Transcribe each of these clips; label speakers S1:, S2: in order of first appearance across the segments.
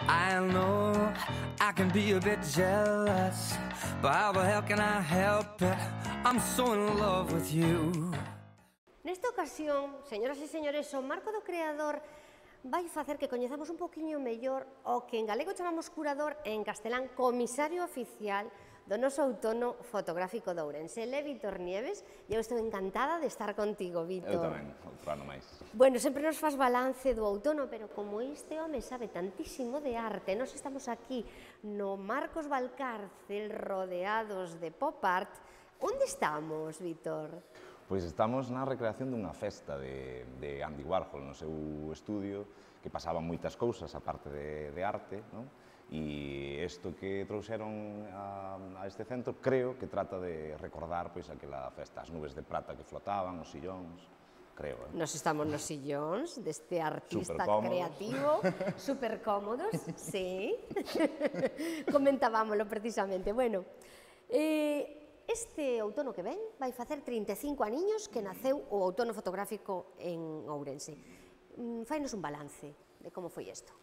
S1: I know I can be a bit jealous, but how the hell can I help it? I'm so in love with you.
S2: Nesta ocasión, señoras e señores, o marco do creador vai facer que coñezamos un poquinho mellor o que en galego chamamos curador e en castelán comisario oficial do noso outono fotográfico de Ourense. Ele é Vítor Nieves e eu estou encantada de estar contigo, Vítor.
S3: Eu tamén, outro ano máis.
S2: Bueno, sempre nos faz balance do outono, pero como este home sabe tantísimo de arte, nós estamos aquí no Marcos Valcárcel rodeados de pop art. Onde estamos, Vítor?
S3: Pois estamos na recreación dunha festa de Andy Warhol no seu estudio, que pasaban moitas cousas aparte de arte, non? E isto que trouxeron a este centro creo que trata de recordar pois aquela festa, as nubes de prata que flotaban, os sillóns, creo.
S2: Nos estamos nos sillóns deste artista creativo, super cómodos, sí. Comentábamoslo precisamente. Bueno, este outono que ven vai facer 35 aniños que naceu o outono fotográfico en Ourense. Fainos un balance de como foi isto.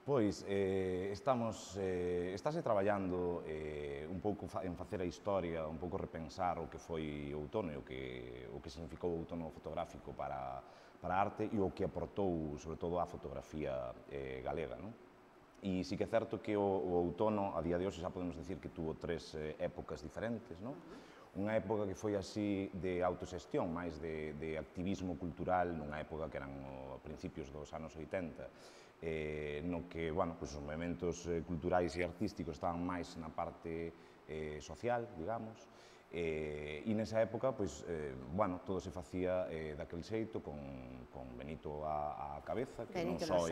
S3: Pois, estáse traballando un pouco en facer a historia, un pouco repensar o que foi o outono e o que significou o outono fotográfico para a arte e o que aportou, sobre todo, a fotografía galega, non? E sí que é certo que o outono, a día de hoxe, xa podemos dicir que tuvo tres épocas diferentes, non? Unha época que foi así de autoxestión, máis de activismo cultural, nunha época que eran principios dos anos 80, no que, bueno, os movimentos culturais e artísticos estaban máis na parte social, digamos, e nesa época, bueno, todo se facía daquel xeito, con Benito á cabeza, que non só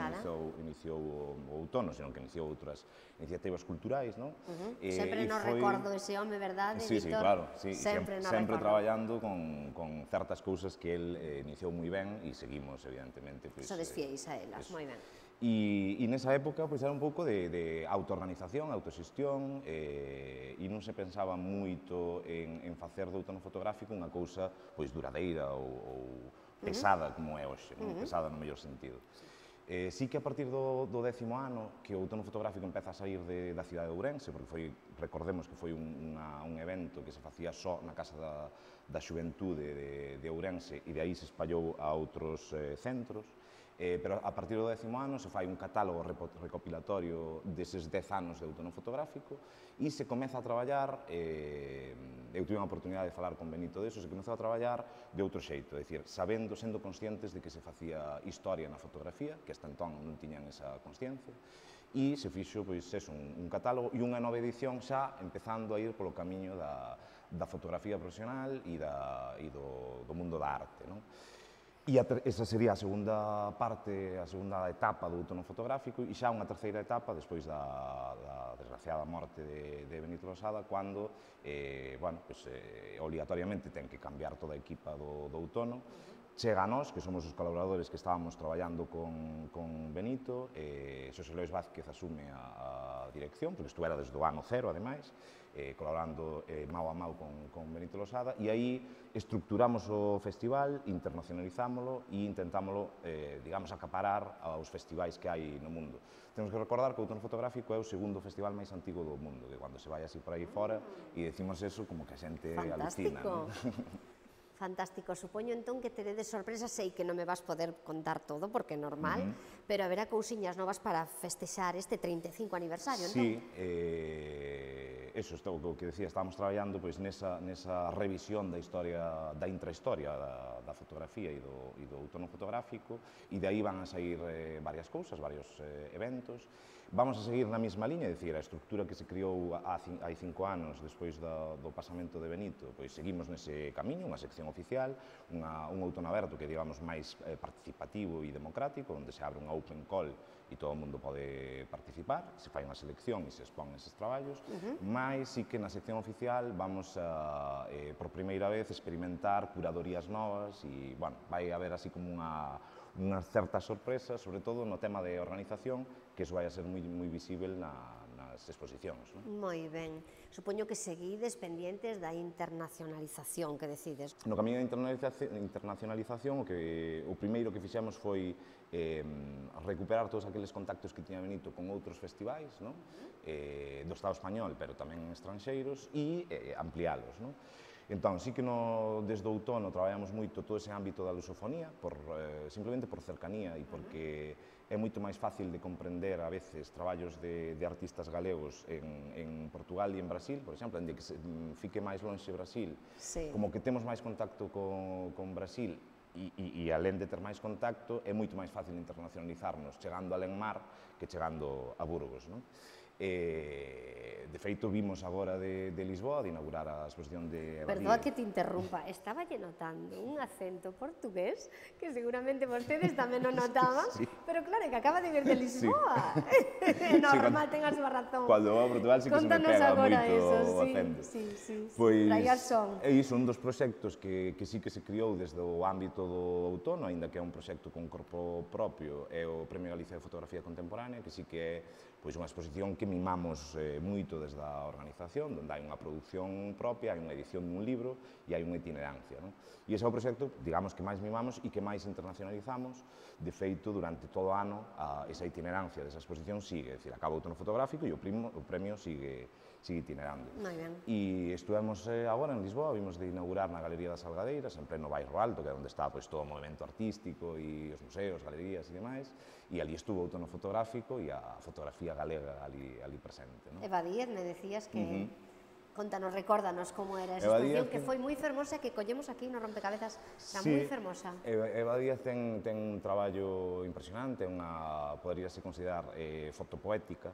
S3: iniciou o outono, senón que iniciou outras iniciativas culturais, non?
S2: Sempre nos recordo ese home, verdade, Vítor?
S3: Sí, claro, sempre traballando con certas cousas que el iniciou moi ben e seguimos, evidentemente.
S2: Sodes fieis a elas, moi ben.
S3: E nesa época era un pouco de autoorganización, autoxestión, e non se pensaba moito en facer do outono fotográfico unha cousa duradeira ou pesada como é hoxe, pesada no mellor sentido. Sí que a partir do 10º ano que o outono fotográfico empeza a sair da cidade de Ourense, porque recordemos que foi un evento que se facía só na Casa da Xuventude de Ourense e de aí se espallou a outros centros, pero a partir do 10º ano se fai un catálogo recopilatorio deses 10 anos de outono fotográfico e se comeza a traballar, eu tive unha oportunidade de falar con Benito deso, se comeza a traballar de outro xeito, é dicir, sendo conscientes de que se facía historia na fotografía, que hasta entón non tiñan esa consciencia, e se fixo un catálogo e unha nova edición xa empezando a ir polo camiño da fotografía profesional e do mundo da arte, non? E esa sería a segunda parte, a segunda etapa do outono fotográfico e xa unha terceira etapa despois da desgraciada morte de Benito Losada, cando, obligatoriamente ten que cambiar toda a equipa do outono. Chega a nós, que somos os colaboradores que estábamos traballando con Benito, Xosé Lois Vázquez asume a dirección, porque estuvera desde o ano cero, ademais, colaborando mao a mao con Benito Losada, e aí estructuramos o festival, internacionalizámolo e intentámolo, digamos, acaparar aos festivais que hai no mundo. Temos que recordar que o outono fotográfico é o segundo festival máis antigo do mundo, que cando se vai así por aí fora e decimos eso como que a xente alucina.
S2: Fantástico, supoño entón que teredes sorpresas, sei que non me vas poder contar todo porque é normal, pero haberá cousiñas novas para festexar este 35 aniversario, entón?
S3: Sí, eso, o que decía, estábamos traballando nesa revisión da historia, da intrahistoria da fotografía e do outono fotográfico, e de aí van a sair varias cousas, varios eventos. Vamos a seguir na mesma liña, é dicir, a estructura que se criou hai 5 anos despois do pasamento de Benito, pois seguimos nese camiño, unha sección oficial, un outono aberto que digamos máis participativo e democrático, onde se abre unha open call e todo o mundo pode participar, se fai unha selección e se expón eses traballos, mas sí que na sección oficial vamos a, por primeira vez, experimentar curadorías novas e, bueno, vai haber así como unha certa sorpresa, sobre todo no tema de organización, que iso vai a ser moi visível nas exposicións.
S2: Moi ben. Supoño que seguides pendientes da internacionalización que decides.
S3: No camiño da internacionalización, o primeiro que fixemos foi recuperar todos aqueles contactos que tiña Benito con outros festivais, non? Do Estado español, pero tamén estranxeiros, e ampliálos, non? Entón, sí que desde o outono traballamos moito todo ese ámbito da lusofonía, simplemente por cercanía e porque é moito máis fácil de comprender a veces traballos de artistas galegos en Portugal e en Brasil, por exemplo, onde que fique máis lonxe Brasil, como que temos máis contacto con Brasil e alén de ter máis contacto, é moito máis fácil internacionalizarnos chegando a Lenmar que chegando a Burgos, non? De feito, vimos agora de Lisboa de inaugurar a exposición de Eva Díez.
S2: Perdoa que te interrumpa, estaba lle notando un acento portugués que seguramente vostedes tamén o notaban, pero claro, que acaba de vir de Lisboa. Normal, ten a súa razón.
S3: Cando vou a Portugal sí que se me pega moito o acento.
S2: Pois, traías son.
S3: É iso, un dos proxectos que sí que se criou desde o ámbito do outono, aínda que é un proxecto con corpo propio, é o Premio Galicia de Fotografía Contemporánea, que sí que é unha exposición que mimamos moito desde a organización, onde hai unha produción propia, hai unha edición dun libro e hai unha itinerancia. E ese é o proxecto, digamos, que máis mimamos e que máis internacionalizamos. De feito, durante todo o ano, esa itinerancia desa exposición sigue, é dicir, acaba o outono fotográfico e o premio sigue itinerando. E estivemos agora en Lisboa, vimos de inaugurar na Galería das Salgadeiras, en pleno Bairro Alto, que é onde está todo o movimento artístico e os museos, galerías e demais, e ali estuvo o outono fotográfico e a fotografía galega ali presente.
S2: Eva Díez, me decías que... Contanos, recórdanos como era esa exposición, que foi moi fermosa, que collemos aquí no rompecabezas, era moi fermosa.
S3: Eva Díez ten un traballo impresionante, poderíase considerar fotopoética,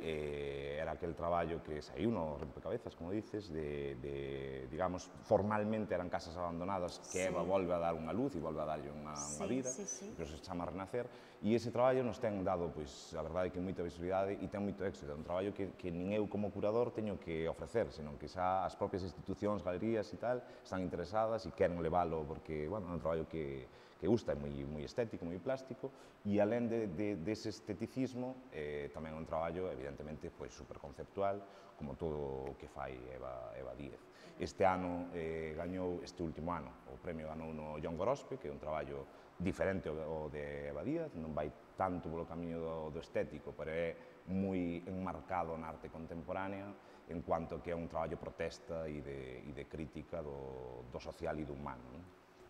S3: era aquel traballo que saiu no rompecabezas, como dices, digamos, formalmente eran casas abandonadas que Eva volve a dar unha luz e volve a darlle unha vida, pero se chama Renacer, e ese traballo nos ten dado, a verdade, que moita visibilidade e ten moito éxito, é un traballo que nin eu como curador teño que ofrecer, senón que xa as propias institucións, galerías e tal, están interesadas e queren leválo porque, bueno, é un traballo que gusta, é moi estético, moi plástico, e alén dese esteticismo, tamén é un traballo, evidentemente, superconceptual, como todo o que fai Eva Díez. Este ano gañou, este último ano, o premio ganou no John Gorospe, que é un traballo diferente ao de Eva Díez, non vai tanto polo camiño do estético, pero é moi enmarcado na arte contemporánea, en cuanto que é un traballo protesta e de crítica do social e do humano.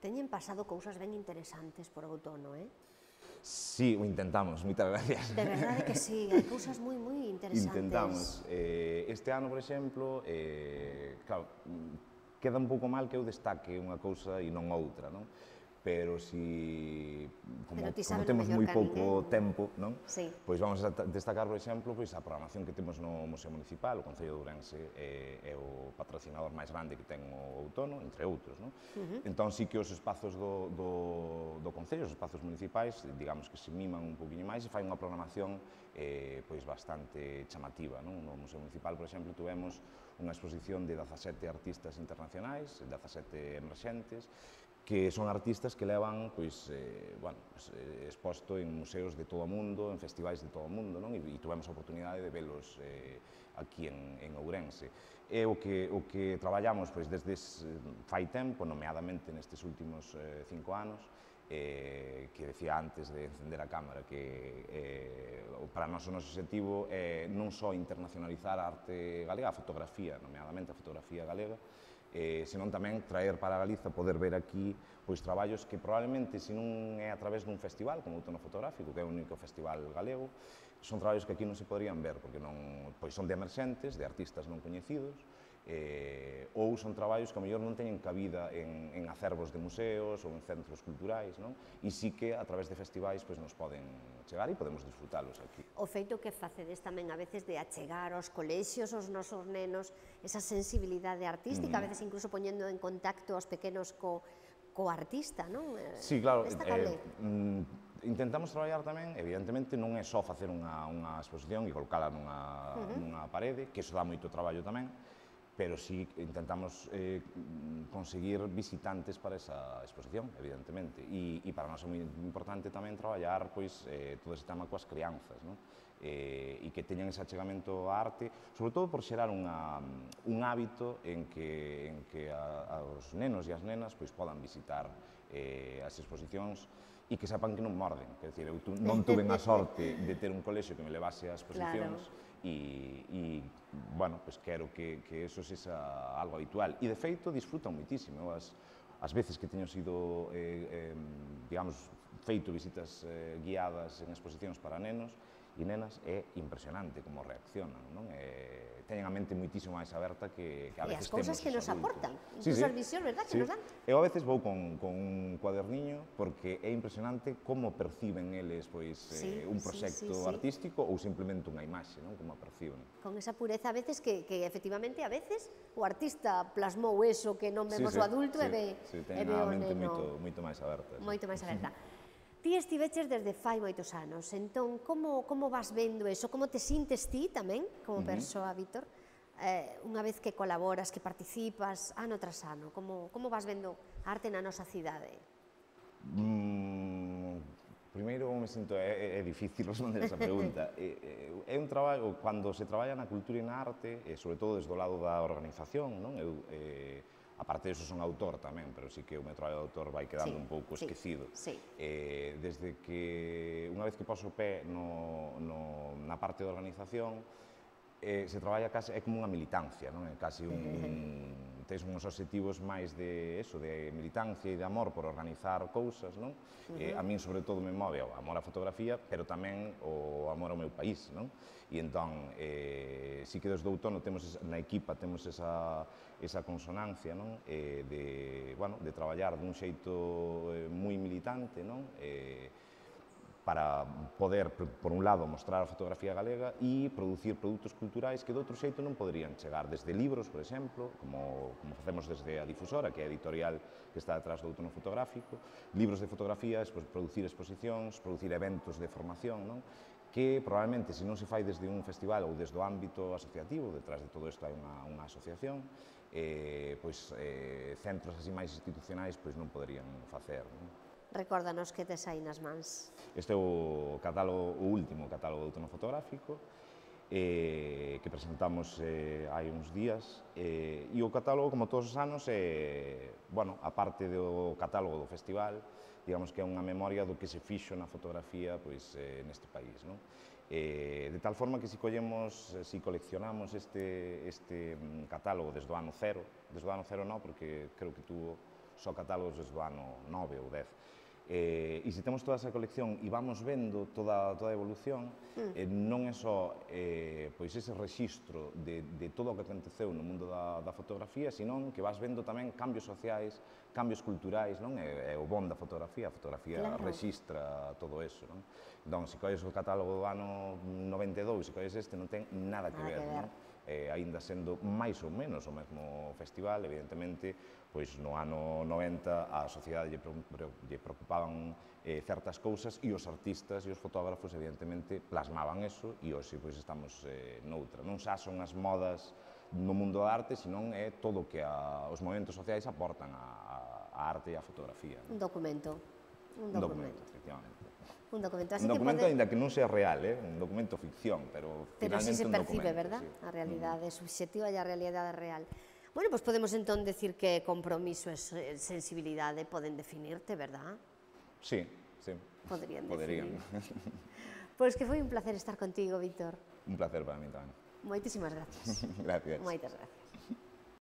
S2: Teñen pasado cousas ben interesantes por outono,
S3: Sí, o intentamos, moitas gracias.
S2: De verdade que sí, hai cousas moi interesantes.
S3: Intentamos. Este ano, por exemplo, claro, queda un pouco mal que eu destaque unha cousa e non outra, non? Pero como temos moi pouco tempo, pois vamos a destacar, por exemplo, a programación que temos no Museo Municipal. O Concello de Ourense é o patrocinador máis grande que ten o outono, entre outros. Entón, sí que os espazos do Concello, os espazos municipais, digamos que se miman un poquinho máis e fai unha programación bastante chamativa. No Museo Municipal, por exemplo, tuvemos unha exposición de 17 artistas internacionais, 17 emerxentes, que son artistas que levan exposto en museos de todo o mundo, en festivais de todo o mundo, e tuvemos a oportunidade de velos aquí en Ourense. É o que traballamos desde fai tempo, nomeadamente nestes últimos 5 anos, que decía antes de encender a cámara, que para nós o noso objetivo é non só internacionalizar a arte galega, a fotografía, nomeadamente a fotografía galega, senón tamén traer para Galiza, poder ver aquí traballos que probablemente, se non é a través dun festival, como o Outono Fotográfico, que é o único festival galego, son traballos que aquí non se poderían ver, porque son de emerxentes, de artistas non coñecidos, ou son traballos que a mellor non teñen cabida en acervos de museos ou en centros culturais, e sí que a través de festivais nos poden chegar e podemos disfrutalos aquí.
S2: O feito que facedes tamén a veces de achegar aos colexios, aos nosos nenos, esa sensibilidade artística, a veces incluso poñendo en contacto aos pequenos co artista, non?
S3: Sí, claro, intentamos traballar tamén, evidentemente, non é só facer unha exposición e colocala nunha parede, que iso dá moito traballo tamén, pero sí intentamos conseguir visitantes para esa exposición, evidentemente. E para nós é moi importante tamén traballar todo ese tema coas crianzas, e que teñan ese achegamento á arte, sobre todo por xerar un hábito en que os nenos e as nenas podan visitar as exposicións e que sepan que non morden. Quer dizer, eu non tuve a sorte de ter un colexio que me levase ás exposicións e, bueno, pues quero que eso sexa algo habitual. E, de feito, disfrutan moitísimo. As veces que teño sido, digamos, feito visitas guiadas en exposicións para nenos e nenas, é impresionante como reaccionan, non? Teñen a mente moitísimo máis aberta que a veces temos os adultos.
S2: E as cousas que nos aportan, incluso as visións, verdad, que nos dan.
S3: Eu a veces vou con un cuaderniño porque é impresionante como perciben eles un proxecto artístico ou simplemente unha imaxe, non? Como a perciben.
S2: Con esa pureza a veces que efectivamente a veces o artista plasmou eso que non vemos o adulto e ve o neno.
S3: Moito máis aberta.
S2: Moito máis aberta. Ti estiveches desde fai moitos anos, entón, como vas vendo eso? Como te sintes ti tamén, como persoa, Víctor, unha vez que colaboras, que participas, ano tras ano? Como vas vendo a arte na nosa cidade?
S3: Primeiro, me sinto, é difícil responder esa pregunta. É un traballo, cando se traballa na cultura e na arte, sobre todo desde o lado da organización, non? Eu, aparte disso, son autor tamén, pero sí que o meu traballo de autor vai quedando un pouco esquecido. Desde que, unha vez que poso o pé na parte de organización, se traballa case, é como unha militancia, non? É case tens uns obxectivos máis de militancia e de amor por organizar cousas, non? A min, sobre todo, me move o amor á fotografía, pero tamén o amor ao meu país, non? E entón, sí que desde o outono na equipa temos esa consonancia, non? De traballar dun xeito moi militante, non? Para poder, por un lado, mostrar a fotografía galega e producir produtos culturais que de outro xeito non poderían chegar, desde libros, por exemplo, como facemos desde a Difusora, que é a editorial que está detrás do outono fotográfico, libros de fotografía, producir exposicións, producir eventos de formación, non? Que probablemente, se non se fai desde un festival ou desde o ámbito asociativo, detrás de todo isto hai unha asociación, centros así máis institucionais non poderían facer, non?
S2: Recórdanos que tes aí nas mans.
S3: Este é o último catálogo de outono fotográfico que presentamos hai uns días e o catálogo, como todos os anos, a parte do catálogo do festival, digamos que é unha memoria do que se fixo na fotografía neste país, non? De tal forma que si coleccionamos este catálogo desde o ano cero non, porque creo que tuvo só catálogos desde o ano 9 ou 10, e se temos toda esa colección e vamos vendo toda a evolución, non é só ese rexistro de todo o que aconteceu no mundo da fotografía, senón que vas vendo tamén cambios sociais, cambios culturais, non? É o bon da fotografía, a fotografía rexistra todo eso, non? Entón, se colles o catálogo do ano 92, se colles este, non ten nada que ver, non? Aínda sendo máis ou menos o mesmo festival, evidentemente, no ano 90 a sociedade lle preocupaban certas cousas e os artistas e os fotógrafos, evidentemente, plasmaban eso e hoxe estamos noutra. Non xa son as modas no mundo da arte, senón é todo o que os movementos sociais aportan á arte e á fotografía.
S2: Un documento.
S3: Un documento, efectivamente.
S2: Un documento,
S3: aínda que non sea real, un documento ficción, pero finalmente
S2: sí se percibe, verdad? A realidade subxectiva e a realidade real. Bueno, pois podemos entón decir que compromiso e sensibilidade poden definirte, verdad?
S3: Sí.
S2: Poderían definir. Pois que foi un placer estar contigo, Víctor.
S3: Un placer para mí tamén.
S2: Moitísimas gracias.
S3: Gracias.
S2: Moitas gracias.